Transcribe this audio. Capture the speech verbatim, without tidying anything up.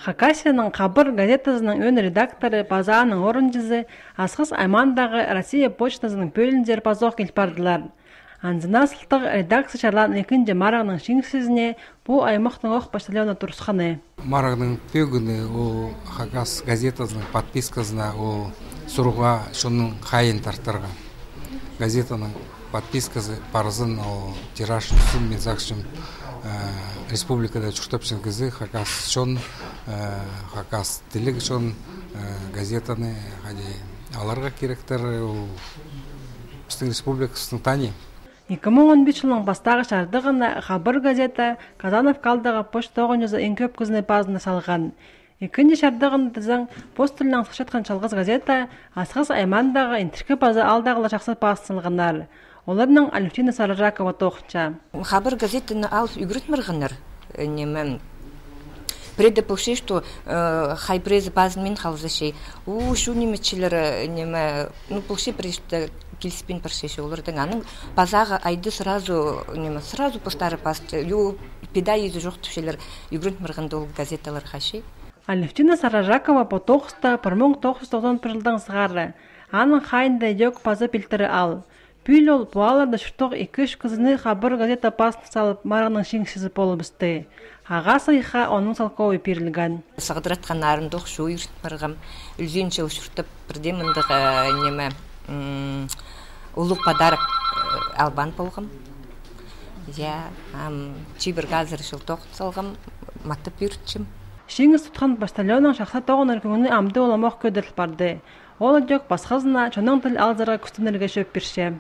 Хакасияның «Хабар» газетазының ӧӧн редакторы паза аның орынҷызы Асхыс аймаандағы Россия почтазының пӧлиинзер пазох кил пардылар. Анзына сылтағ редакция чарлаан ікінҷі марығның чиңісчізіне пу аймахтың ох почтальоны турысханы. Марығның пӧгіні ол хакас газетазының подписказына ол сурығ чонның хайиин тартарға. Газетаның подписказы парзын, ол тираж ӧсче, мин сағынчам, э, республикада чуртапчаң кізі, хакас чон, э, хакас тіліг чон, э, газетаны хайди аларға киректер, ол пістің республикабыстың тани. Ікі муң он пис чылның пастағы чардығына «Хабар» газета Казановка аалдағы почта тоғынҷызы иң кӧп кізіні пазына салған. Ікінҷі чардығын тізең, пос тілінең сыхчатхан чалғыс газета Асхыс аймаандағы Интіркі Паза аалдағылар чахсы пазына салғаннар. Оларнаң Алевтина Сарыжакова тоғынча. «Хабар» газетаны алып ӱгреніп парғаннар, э, ниме, пірее дее полча, что, э, хай піреезі пазынмин халза чи. У, чу ниме чилер, э, ниме, ну, полча, пірее дее киліспин парча чи оларнаң. Анаң пазағы айды сразу, ниме, сразу постары пасча. Ю, пида иді чох тіпчелер, ӱгреніп парғанда ол газеталарға чи. Алевтина Сарыжакова пу тоғыста пір муң тоғыс чӱс тоғызон пір чылдаң сығара. Аның хайиинда ідӧк паза пилтірі ал. Пӱӱл ол пу аалларда чуртох ікі-ӱс кізіні «Хабар» газета пазына салып, марығның чиңісчізі полыбысты. Ағаа сыйыхха онның салковы пирілген. Сығдыратханнарымох чоо ӱгреніп парғам. Ӱлзін чыл чуртап, пірдее мындағ, э, ниме, м, улуғ подарок, э, албаан полғам. Я, ам, чибіргі азыра чыл тоғын салғам, матап ӱгретчем. Чиңіс тутхан почтальонның чахсы тоғынар кӧңні амды уламох кӧдіріл парды. Ол ідӧк пасхазына чонның тіл алзарға кӱстенерге чӧп пирче.